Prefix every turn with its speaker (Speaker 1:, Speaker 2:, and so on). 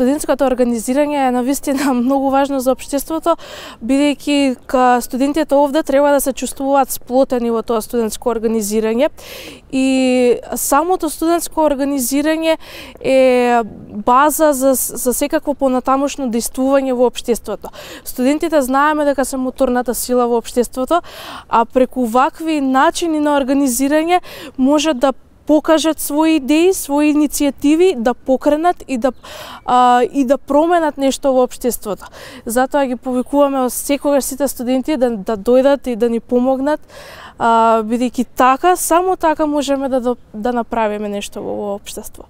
Speaker 1: студентското организирање е навистина многу важно за општеството, бидејќи студентите овде треба да се чувствуваат сплотени во тоа студентско организирање и самото студентско организирање е база за секакво понатамошно действување во општеството. Студентите знаеме дека се моторната сила во општеството, а преку вакви начини на организирање може да покажат своји идеи, своји иницијативи, да покренат и да променат нешто во општеството. Затоа ги повикуваме секогаш сите студенти да дојдат и да ни помогнат, бидејќи така, само така можеме да направиме нешто во општество.